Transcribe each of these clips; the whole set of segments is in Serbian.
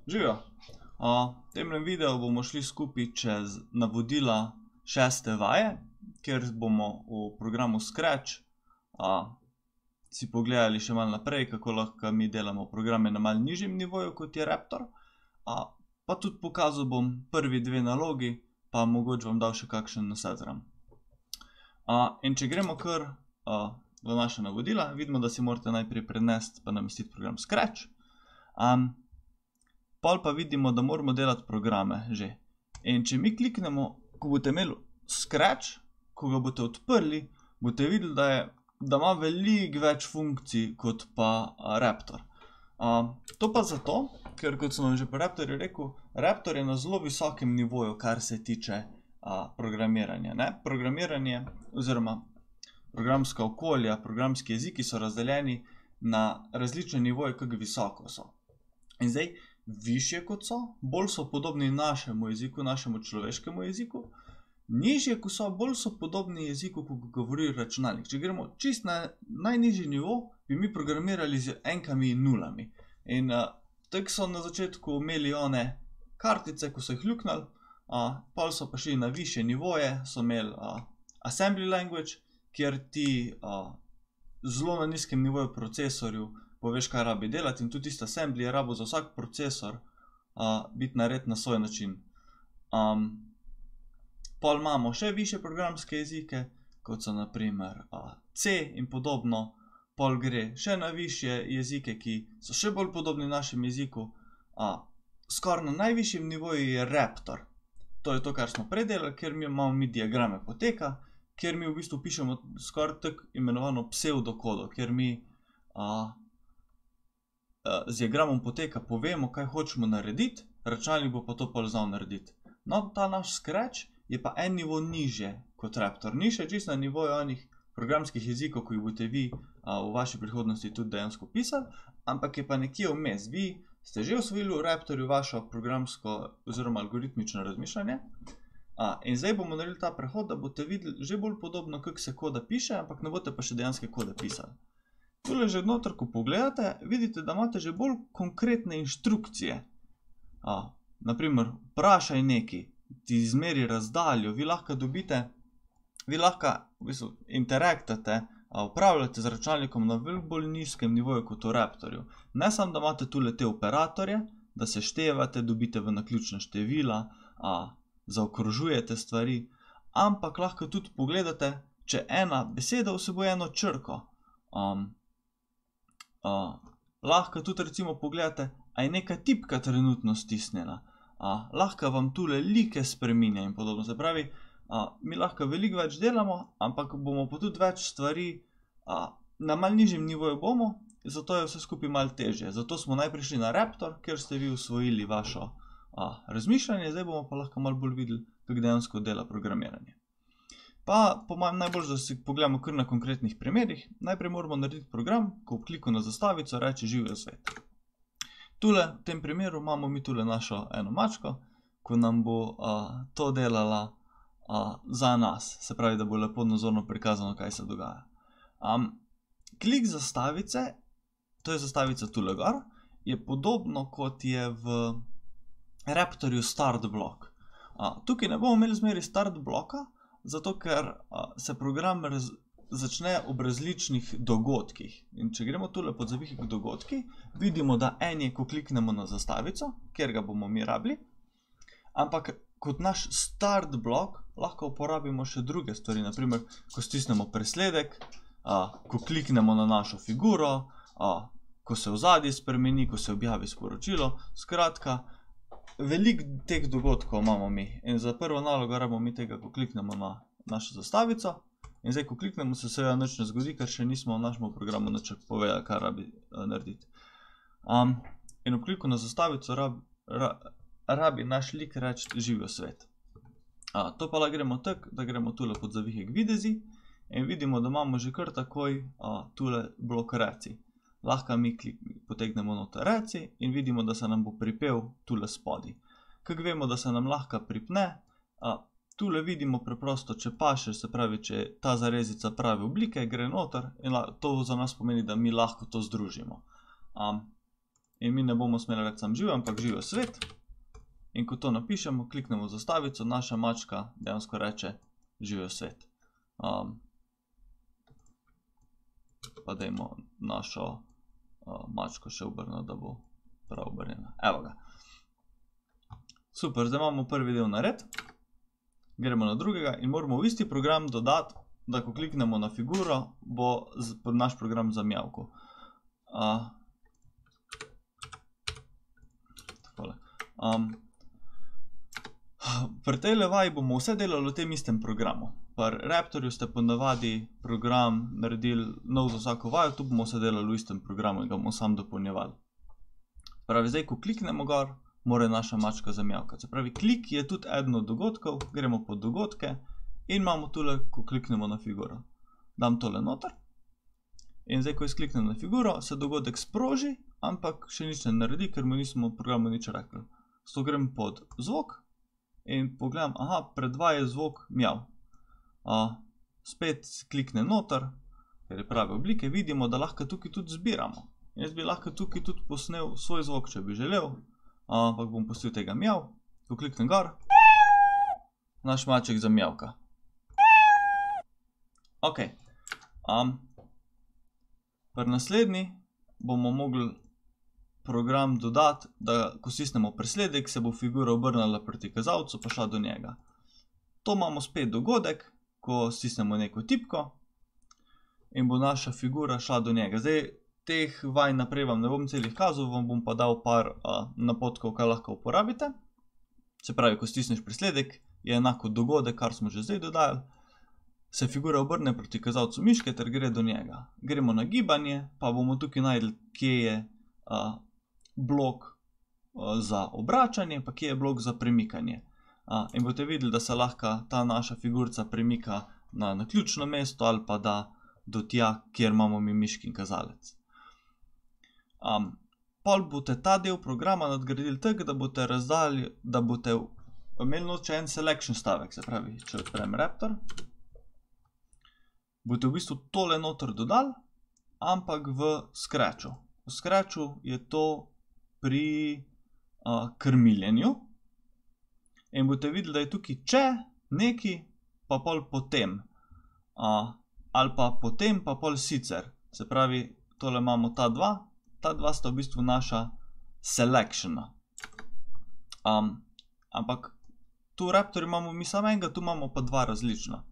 Živijo! V temle videu bomo šli skupaj čez navodila 6. vaje, kjer bomo v programu Scratch si pogledali še malo naprej, kako lahko mi delamo programe na malo nižjem nivoju, kot je Raptor. Pa tudi pokazal bom prvi dve nalogi, pa mogoče vam dal še kakšen nasvet zraven. In če gremo kar v naša navodila, vidimo, da si morate najprej prenesti pa namestiti program Scratch. Pol pa vidimo, da moramo delati programe že. In če mi kliknemo, ko boste imeli Scratch, ko ga boste odprli, boste videli, da ima veliko več funkcij kot pa Raptor. To pa zato, ker kot sem vam že pri Raptorju rekel, Raptor je na zelo visokem nivoju, kar se tiče programiranja. Programiranje oziroma programska okolja, programski jeziki so razdeljeni na različne nivoje, kako visoko so. In zdaj, višje kot so, bolj so podobni našemu jeziku, našemu človeškemu jeziku, nižje kot so, bolj so podobni jeziku, ko govori računalnik. Če gremo čist na najnižji nivo, bi mi programirali z enkami in nulami. In tako so na začetku imeli one kartice, ko so jih ljuknali, pol so pa šli na višje nivoje, so imeli assembly language, kjer ti zelo na nizkem nivoju procesorju poveš, kaj rabi delati, in tudi tisti assembly je rabo za vsak procesor biti nared na svoj način. Pol imamo še više programske jezike, kot so na primer C in podobno. Pol gre še na višje jezike, ki so še bolj podobni našem jeziku. Skoraj na najvišjem nivoju je Raptor. To je to, kar smo predelali, ker mi imamo diagrame poteka, kjer mi v bistvu pišemo skoraj tako imenovano psevdokodo, kjer mi z diagramom poteka povemo, kaj hočemo narediti, računalnik bo pa to pol znal narediti. No, ta naš Scratch je pa en nivo nižje kot Raptor. Ni še čisto na nivoju onih programskih jezikov, ko jih boste vi v vaši prihodnosti tudi dejansko pisali, ampak je pa nekje vmes. Vi ste že osvojili v Raptorju vašo programsko oziroma algoritmično razmišljanje. In zdaj bomo naredili ta prehod, da boste videli že bolj podobno, kako se koda piše, ampak ne boste pa še dejanske kode pisali. Tule že noter, ko pogledate, vidite, da imate že bolj konkretne inštrukcije. Naprimer, vprašaj nekaj, ti izmeri razdaljo, vi lahko dobite, vi lahko v bistvu interaktate, upravljate z računalnikom na veliko bolj nizkem nivoju kot v Raptorju. Ne samo, da imate tule te operatorje, da se števate, dobite v naključna števila, zaokrožujete stvari, ampak lahko tudi pogledate, če ena beseda vsebuje eno črko. Lahko tudi recimo pogledate, a je neka tipka trenutno stisnjena. Lahko vam tule like spreminja in podobno. Se pravi, mi lahko veliko več delamo, ampak bomo pa tudi več stvari na malo nižjem nivoju bomo, zato je vse skupaj malo težje. Zato smo najprej šli na Raptor, kjer ste vi usvojili vašo razmišljanje, zdaj bomo pa lahko malo bolj videli, kako dejansko dela programiranje. Pa po mojem najbolj, da si pogledamo kar na konkretnih primerih. Najprej moramo narediti program, ko v kliku na zastavico reče živijo svet. Tule, v tem primeru, imamo mi tule našo eno mačko, ko nam bo to delala za nas. Se pravi, da bo lepo nazorno prikazano, kaj se dogaja. Klik zastavice, to je zastavica tule gor, je podobno kot je v Raptorju start blok. Tukaj ne bomo imeli zmeri start bloka, zato ker se program začne ob različnih dogodkih. In če gremo tule pod zavihek dogodki, vidimo, da en je, ko kliknemo na zastavico, kjer ga bomo mi rabili, ampak kot naš start blok lahko uporabimo še druge stvari, naprimer, ko stisnemo presledek, ko kliknemo na našo figuro, ko se ozadje spremeni, ko se objavi sporočilo. Skratka, veliko teh dogodkov imamo mi. In za prvo nalogo rabimo mi tega, ko kliknemo na našo zastavico. In zdaj, ko kliknemo, se seveda nič ne zgodi, ker še nismo v našem programu nič povedali, kaj rabi narediti. In ob kliku na zastavico rabi naš lik reči živijo svet. To pa lahko gremo tako, da gremo tule pod zavihek videzi in vidimo, da imamo že kar takoj tule blok reci. Lahko mi potegnemo noter reci in vidimo, da se nam bo pripel tule spodi. Kako vemo, da se nam lahko pripne? Tule vidimo preprosto, če paše, se pravi, če je ta zarezica prave oblike, gre noter in to za nas pomeni, da mi lahko to združimo. in mi ne bomo smeli reči sam živijo, ampak živijo svet. In ko to napišemo, kliknemo zastavico, naša mačka dejansko reče živijo svet. Pa dajmo našo mačko še obrniti, da bo prav obrnjena. Evo ga. Super, zdaj imamo prvi del nared. Gremo na drugega in moramo v isti program dodati, da ko kliknemo na figuro, bo naš program zamjavkal. Takole. Pri tej levaji bomo vse delali v tem istem programu. Pri Raptorju ste ponavadi program naredili nov za vsako vajo, tu bomo vse delali v istem programu in ga bomo sam dopolnjevali. Pravi, zdaj, ko kliknemo gor, mora naša mačka zamjavkati. Se pravi, klik je tudi eden od dogodkov, gremo pod dogodke in imamo tule, ko kliknemo na figuro. Dam tole noter in zdaj, ko jaz kliknem na figuro, se dogodek sproži, ampak še nič ne naredi, ker mu nismo v programu nič rekli. Zato grem pod zvok in pogledam, aha, predvaja zvok mjav. Spet kliknem noter, ker je prave oblike, vidimo, da lahko tukaj tudi zbiramo. Jaz bi lahko tukaj tudi posnel svoj zvok, če bi želel, ampak bom pustil tega mjav. Ko kliknem gor, naš maček zamjavka. Ok. Pri naslednji bomo mogli program dodati, da ko stisnemo presledek, se bo figura obrnila proti kazalcu, pa šla do njega. To imamo spet dogodek, ko stisnemo neko tipko in bo naša figura šla do njega. Zdaj, teh vaj naprej vam ne bom celih kazal, vam bom pa dal par napotkov, kaj lahko uporabite. Se pravi, ko stisneš presledek, je enako dogodek, kar smo že zdaj dodali. Se figura obrne proti kazalcu miške ter gre do njega. Gremo na gibanje, pa bomo tukaj najdli, kje je blok za obračanje, pa kje je blok za premikanje. In boste videli, da se lahko ta naša figurca premika na naključno mesto ali pa da do tja, kjer imamo mi miškin kazalec. Pol boste ta del programa nadgradili tako, da boste razdali, da boste imeli noče en selection stavek, se pravi, če odprem Raptor, boste v bistvu tole noter dodali, ampak v Scratchu. V Scratchu je to pri krmiljenju in boste videli, da je tukaj če neki, pa pol potem, ali pa potem, pa pol sicer. Se pravi, tole imamo ta dva sta v bistvu naša selectiona. Ampak tu v Raptorju imamo mi samo enega, tu imamo pa dva različna.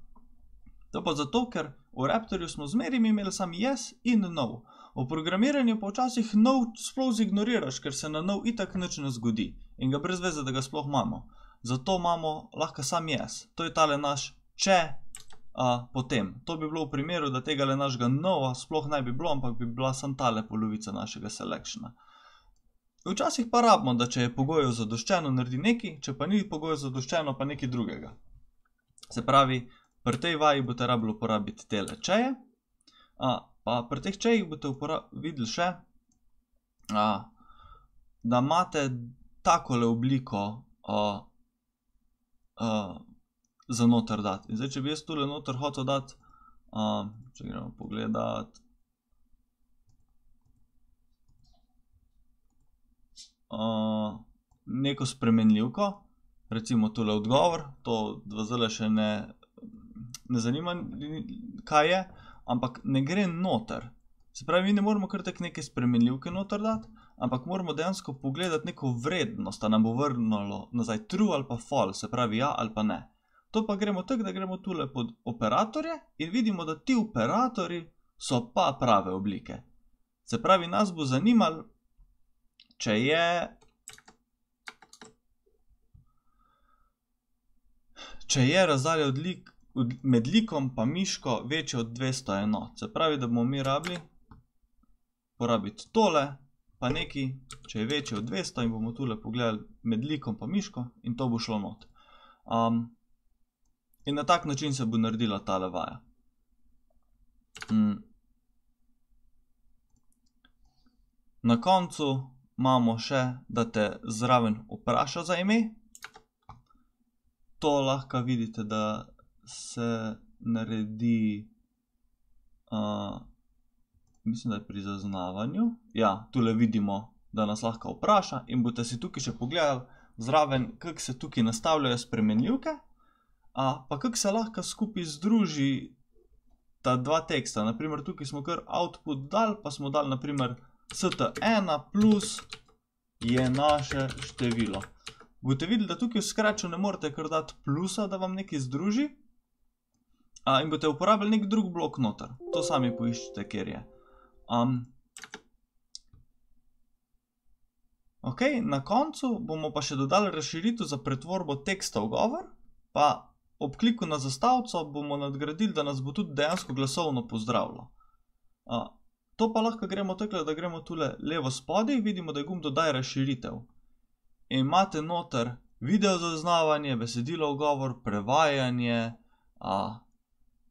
To pa zato, ker v Raptorju smo zmeraj imeli samo yes in no. V programiranju pa včasih no sploh zignoriraš, ker se na no itak nič ne zgodi in ga brez veze, da ga sploh imamo. Zato imamo lahko sam yes. To je tale naš če potem. To bi bilo v primeru, da tega našega no sploh ne bi bilo, ampak bi bila samo tale polovica našega selectiona. Včasih pa rabimo, da če je pogojev zadoščeno, naredi nekaj, če pa ni pogojev zadoščeno, pa nekaj drugega. Se pravi, pri tej vaji boste rabili uporabiti tele čeje, pa pri teh čejih boste videli še, da imate takole obliko za noter dati. In zdaj, če bi jaz tule noter hotel dati, če gremo pogledati, neko spremenljivko, recimo tule odgovor, to zdaj še ne zanima, kaj je, ampak ne gre noter. Se pravi, mi ne moramo kar tak neke spremenljivke noter dati, ampak moramo dejansko pogledati neko vrednost, da nam bo vrnilo nazaj true ali pa false, se pravi ja ali pa ne. To pa gremo tako, da gremo tule pod operatorje in vidimo, da ti operatorji so pa prave oblike. Se pravi, nas bo zanimalo, če je razdalja med likom pa miško večja od 200 enot. Se pravi, da bomo mi rabili porabiti tole, pa nekaj, če je večje od 200 in bomo tule pogledali med likom pa miško in to bo šlo not. In na tak način se bo naredila tale vaja. Na koncu imamo še, da te zraven vpraša za ime. To lahko vidite, da se naredi, mislim, da je pri zaznavanju. Ja, tule vidimo da nas lahko vpraša in boste si tukaj še pogledali zraven, kako se tukaj nastavljajo spremenljivke, pa kako se lahko skupaj združi ta dva teksta. Naprimer, tukaj smo kar output dali, pa smo dali naprimer st1 plus je naše število. Boste videli, da tukaj v scratchu ne morete kar dati plusa, da vam nekaj združi, in boste uporabili nek drug blok noter. To sami poiščite, kjer je. Ok, na koncu bomo pa še dodali razširitev za pretvorbo teksta v govor, pa ob kliku na zastavico bomo nadgradili, da nas bo tudi dejansko glasovno pozdravilo. To pa lahko gremo takole, da gremo tule levo spodaj, vidimo, da je gumb dodaj razširitev. In imate noter video zaznavanje, besedilo v govor, prevajanje,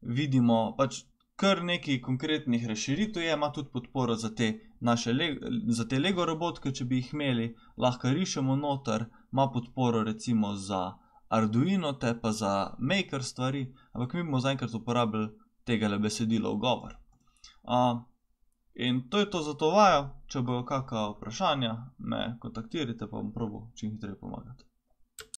vidimo pač kar nekaj konkretnih razširitev je, ima tudi podporo za te Lego robotke, če bi jih imeli, lahko rišemo noter, ima podporo recimo za Arduino, te pa za Maker stvari, ampak mi bomo zaenkrat uporabili tegale besedilo v govor. In to je to za to vajo, če bojo kakšna vprašanja, me kontaktirajte, pa bom probal čim hitreje pomagati.